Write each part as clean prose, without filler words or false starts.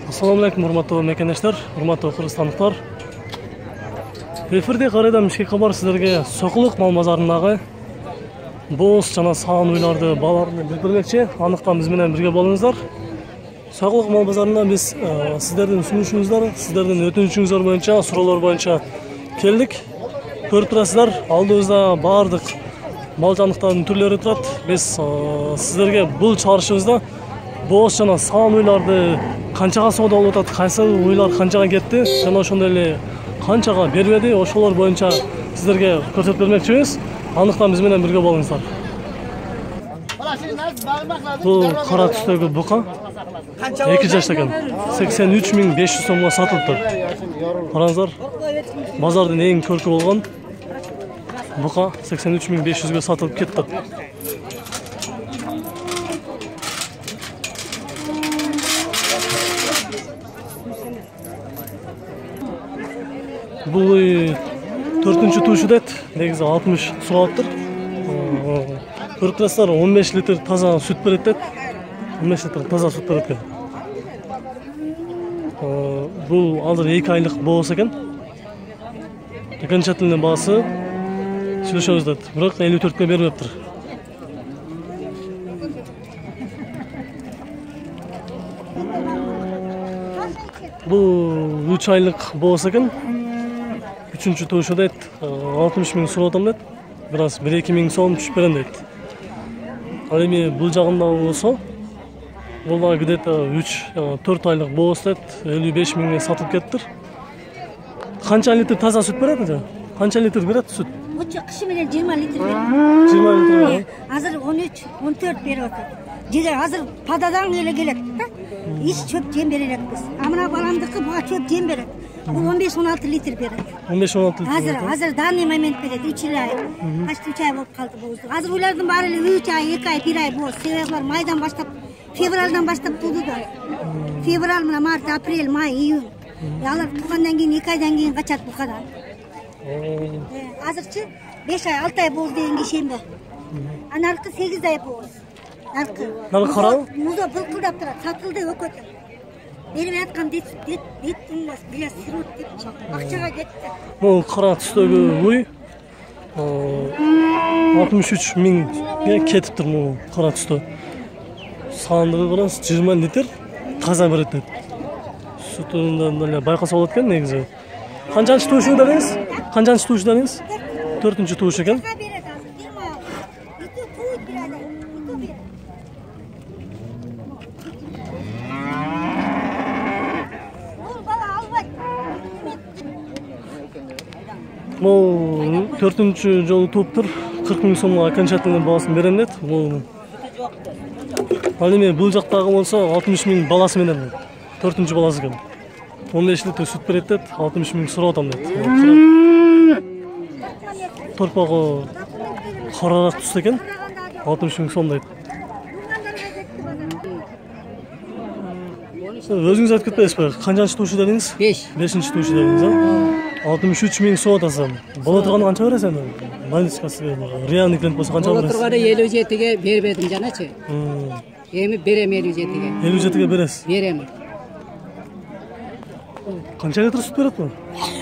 Assalamu alaikum, урматтуу мекендештер, урматтуу кыргызстандыктар. Эфирде кайрадан Бишкек кабар сиздерге Сокулук мал базарындагы бооз жана саан уйларды бааларын билдирмекчи. Андыктан биз менен бирге болуңуздар. Сокулук мал базарына биз сиздердин сунушуңуздар, сиздердин өтүнүчүңүздөр боюнча, суроолор боюнча келдик. Көрүп турасыздар, алдыбызда баардык мал жандыктардын түрлөрү турат. Биз сиздерге бул чыгарышыбызда бооз жана саан уйларды канчага соода болуп атат, кайсы уйлар канчага кетти жана ошондой эле канчага бербеди, ошолор боюнча сиздерге көрсөтүп бермекчибиз. Андыктан биз менен бирге болуңуздар. Бул кара түстөгү бука 2 жашта экен. 83.500 сомго сатылыптыр. Караңыздар, базардын эң көркү болгон бука 83.500ге сатылып кетти. Бул 4-чү туuшу дейт. Негизи 60 суралыптыр. Көрүп турасыздар, 15 литр таза сүт берет дейт. 15 литр таза сүт берет экен. Бул азыр 2 айлык бооз экен. Окончательный баасы сүйлөшөбүз дейт. Бирок 54ке бербептир. Бул 3 айлык бооз экен. 3-чү туuшу дейт. 60 миң сурап дейт. Бираз 1-2 миң сом түшүп берем дейт. Ал эми бул жагында болсо, бул да где-то 3-4 айлык бооз дейт. 55 миңге сатылып кеттир. Канча литр таза сүт берет эже? Канча литр берет сүт? Бучу кышы менен 20 литр берет. 20 литр. Азыр 13-14 берип атат. Жеге азыр пададан эле келет да. Иш чөп жем бере элекпиз. А мына баламдыкы буга чөп жем берет. Бул 15-16 литр берет. 15-16 литр. Азыр данный момент берет. 3 ай. Почти 3 ай болуп калды бооздук. Азыр уйлардын баары эле 3 ай, 2 ай, 1 ай бооз. Себеби булар майдан баштап, февралдан баштап тууду да. Февраль мына март, апрель, май, июнь. Алар туккандан кийин 2 айдан кийин качат букадан. Азырчы 5 ай, 6 ай бооз дегенге ишенбе. Анаркы 8 ай бооз. Наркы карабы? Музо былкылдап турат, сатылды өкөтү. Берип аткан дет тыңбас, бия сирот депчи. Акчага кетти. Бул кара түстөгү уй 63 миңге кетиптир бул кара түстө. Сандыгы караңыз 20 литр таза берет дейт. Сүтүнөн эле байкаса болот экен негизи. Канчанчы туuшу дедиңиз? Канчанчы туuшу дедиңиз? 4-чү туuшу экен. Бул 4-чү жолу тууптур. 40 миң сомго окончательный баасын берем дейт. Ал эми бул жактагы болсо 60 миң баласы менен 4-чү баласы экен. 15 литр сүт берет дейт, 60 миң сурап атам дейт. Торпогу караак түстө экен, 60 миң сом дейт. Өзүңүз айтып кетпейсизби? Канчанчы туuшу дедиңиз? 5-чи туuшу дедиңиз, а? 63 миң сом атасың. Боло турганы канча бересиң? Малышкасы реальный клиент болсо канча бересиң? Боло турганы 57ге бербедим жаначы. Эми берем 57ге. 57ге бересиз? Берем. Канча литр сүт берет бу?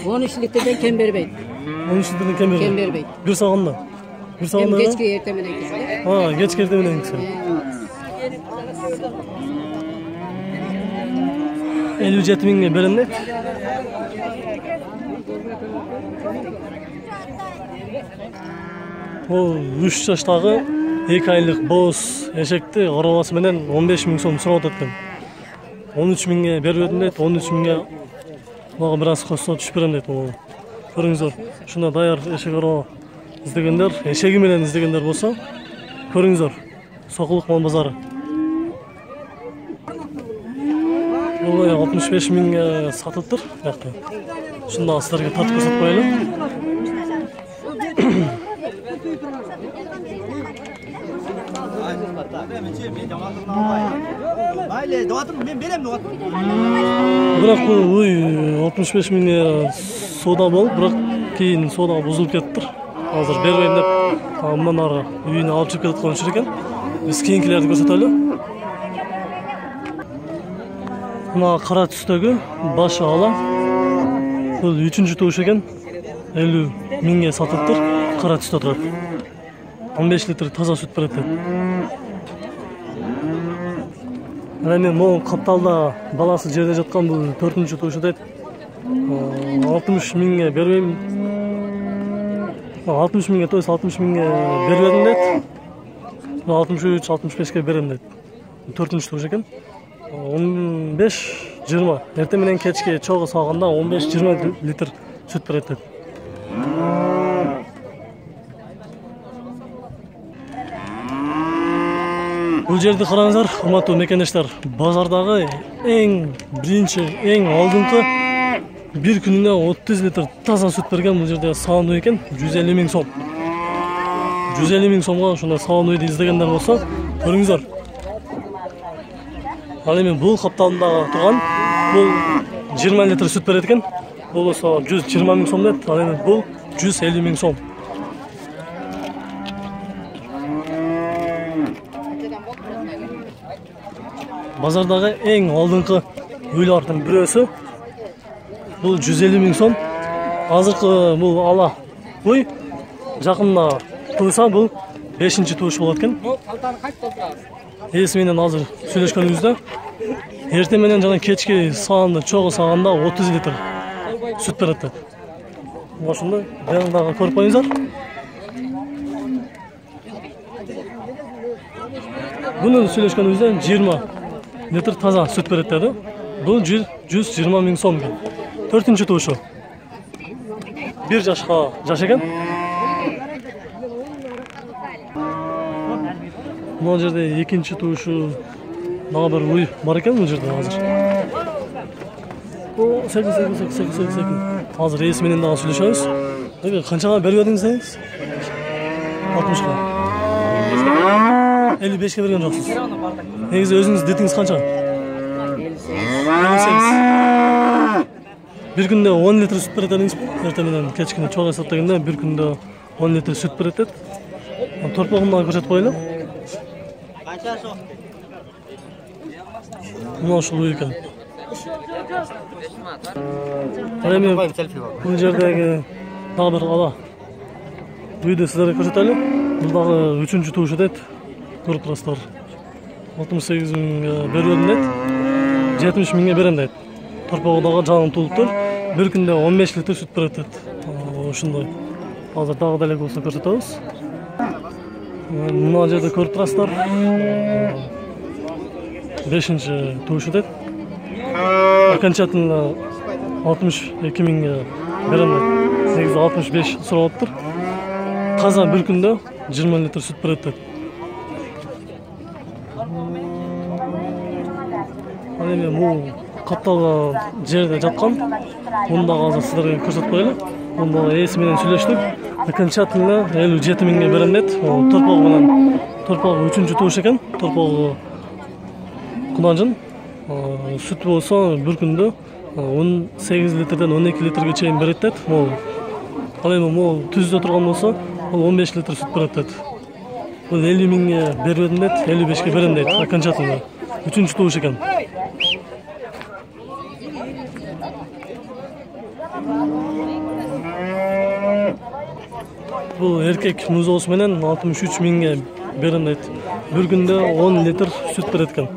13 литрден кем бербейт. 13 литрден кем бербейт. Кем бербейт. Бир сагында. Бир сагында. Кечки эртең менен кийин. Кечки эртең менен кийин. 57 миңге берем дейт. Ол 3 жаштагы 2 айлык бооз эшекти карабасы менен 15 миң сом сурап атат экен. 13 миңге бербедим дейт, 13 миңге мага бир аз косо түшүп берем дейт. Көрүңүздөр, ушундай даяр эшек арба издегендер, эшеги менен издегендер болсо, көрүңүздөр. Сокулук мал базары. Бул 65 миңге сатылыптыр. Ушунда силерге тартып көрсөтүп коелу. Бирок бул 65 миңге соода болуп, бирок кийин соода бузулуп кеттир. Азыр бербейм деп, мындан ары үйүнө алып чыгып кетип аткан экен. Биз кийинкилерди көрсөтөлү. Мына кара түстөгү башы ала. Бул 3-чү тууш экен. 50 миңге сатылыптыр. Кара түстө турат. 15 литр таза сүт берет. Эми могу капталда баласы жерде жаткан бул 4-чү туушу дейт. 60 миңге бербейм. 60 миңге тойса 60 миңге бербедим дейт. 63-65ке берем дейт. 4-чү тууш экен. 15-20. Эртең менен кечке чогуу саганда 15-20 литр сүт берет дейт. Бул жерди караңыздар, урматтуу мекендештер. Базардагы биринчи, эң алдыңкы бир күнүнө 30 литр таза сүт берген бул жерде саануй экен, 150 миң сом. 150 миң сомго ушундай саануйду издегендер болсо, көрүңүздөр. Ал эми бул капталында турган бул 20 литр сүт берет экен. Бул болсо 120 миң сом дейт. Ал эми бул 150 миң сом. Базардагы эң алдыңкы үйлөрдүн бирөөсү бул 150 миң сом. Азыркы бул ала уй жакында тууса бул 5-чи тууш болот экен. Эси менен азыр сүйлөшкөнүбүздө эртең менен жана кечки саанда чогуу саганда 30 литр сүт берет. Ошондой жанагы көрүп коюңуздар. Бунун сүйлөшкөнүбүздө 20 литр таза сүт берет деди. Бул 120 миң сом. 4-чү туушу. 1 жашка жаш экен. Бул жерде 2-чи туушу дагы бир уй бар экен бул жерде азыр. О, секин. Азыр эси менен дагы сүйлөшөбүз. Канчага бербедиңиз деңиз? 60ка. 55ке берген жоксуз. Негизи өзүңүз детиңиз канча? 58. Bir күндө 10 литр сүт берет дедиңиз. Эртең менен кечкине чогуу эсептегенде bir күндө 10 литр сүт берет дейт. Торпогун дагы көрсөтүп коелу. Мына ушул уй экен. Эми бул жердеги дагы бир ала үйдү сиздерге көрсөтөлү. Бул дагы 3-чү туушу дейт. Көрүп турасыздар. 68 миңге берем дейт. 70 миңге берем дейт. Торпогу дагы жанын тулуптур. Bir күндө 15 литр сүт берет дейт. Ошондой. Азыр дагы деле болсо көрсөтөбүз. Мына жерде көрүп турасыздар. 5-чи туушу дейт. Окончательно 62 миңге берем дейт. Негизи 65 суралыптыр. Таза bir күндө 20 литр сүт берет дейт. Эми бул капталга жерде жаткан. Муну дагы азыр сиздерге көрсөтүп коелу. Муну дагы эси менен сүйлөштүк. Окончательно 57 миңге берем дейт. Торпогу менен. Торпогу 3-чү тууш экен. Торпогу кунажын. Сүт болсо bir күндө 18 литрден 12 литрге чейин берет дейт. Ал эми могу түздө турган болсо, ол 15 литр сүт берет дейт. Бул 50 миңге бербедим дейт, 55ке берем дейт. Окончательно 3-чү тууш экен. Бул эркек музоосу менен 63 миңге берем дейт. Bir күндө 10 литр сүт берет экен.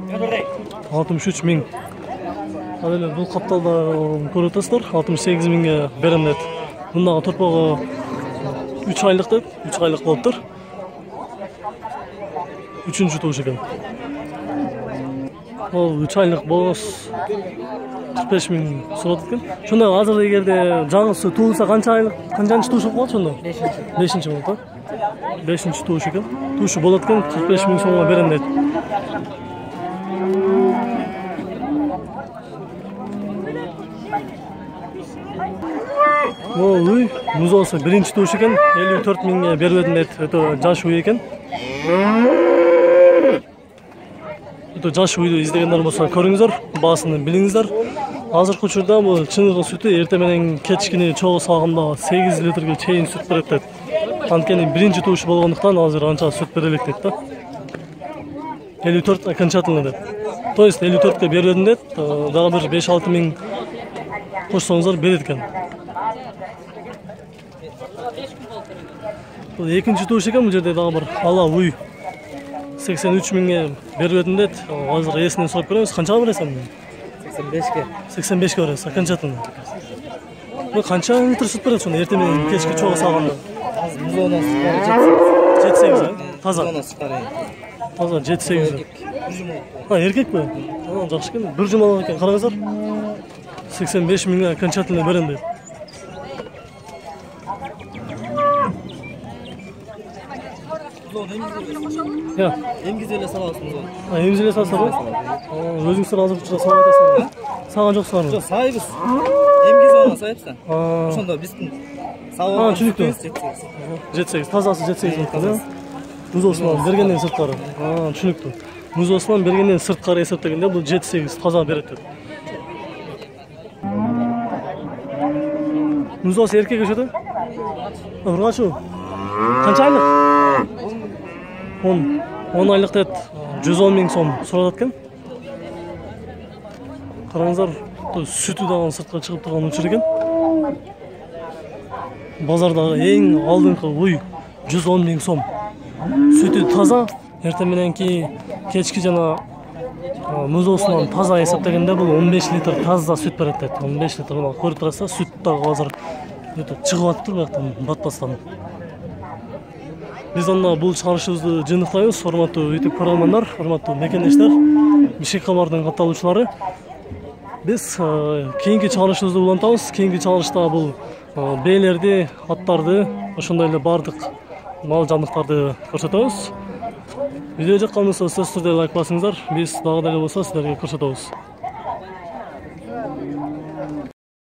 63 миң. Ал эми бул капталда көрүп атасыздар, 68 миңге берем дейт. Мундагы торпогу 3 айлык дейт, 3 айлык болуптур. 3-чү тууш экен. Ол 3 айлык болсо 45 миң сурат экен. Шондой азыр эгерде жаңысы туулса канчанчы тууш болот ошондо? 5-чи болот. 5-чи тууш экен. Туушу болот экен, 45 миң сомго берем дейт. Бул уй музоосу 1-чи тууш экен, 54 миңге бербедим дейт. Өтө жаш уй экен. Өтө жаш уйду издегендер болсо көрүңүздөр, баасын билиңиздер. Азыркы учурда бул чыныгы сүтү эртең менен кечкине чогуу сагында 8 литрге чейин сүт берет дейт. Анткени 1-чи тууш болгондуктан азыр анча сүт бере элек дейт да. 54 окончательно деп. То есть 54-ке бербедим деп, дагы бир 5-6 миң кошсоңуздар берет экен. Бул экинчи туш экен, бул жерде дагы бир ала уй 83 миңге бербедим деп. Азыр эсинен сурап көрөбүз. Канчага бересиң? 85-ке. 85-ке бересиң, окончательно. Бул канча литр сүт берет сонда эртең менен кечке чогуу салганда? Музонос 7-8, таза. Таза 7-8. Эркекпи? Жакшы экен. Бир жумалак экен. Караңыздар. 85 миңге окончательно берем дейт. Я. Эмгизеле саласыңыз. Эмгизеле салсаңыз? Өзүңүздөр азыр учура салып атасыңыз. Саган жоксуңарбы? Жок, сайбыз. Эмгизе ана сайыпса. Ошондо биздин сабак. Түнүктү. 7-8, тазасы 7-8 болду. Музосунан бергенден сырткары. Түнүктү. Музосунан бергенден сырткары эсептегенде бул 7-8 таза берет деп. Музос эркек өшөдө? Ургачу. Канча айлык? 10 айлык деп 110 миң сом сурап аткан. Караңыздар, сүтү дагы сыртка чыгып турган учур экен. Базардагы эң алдыңкы уй 110 миң сом. Сүтү таза, эртең мененки кечки жана музосунан таза эсептегенде бул 15 литр таза сүт берет дейт. 15 литр мына көрүп турасыздар, сүт дагы азыр чыгып атыптыр бияктан батпастан. Биз анда бул чыгарышыбызды жыйынтыктайбыз. Урматтуу YouTube көрөрмандар, урматтуу мекендештер, Бишкек кабардын катталуучулары. Биз кийинки чыгарышыбызды улантабыз. Кийинки чыгарышта бул бээлерди, аттарды, ошондой эле бардык мал жандыктарды көрсөтөбүз. Видео жаккан болсо сөзсүз түрдө лайк басыңыздар. Биз дагы деле болсо силерге көрсөтөбүз.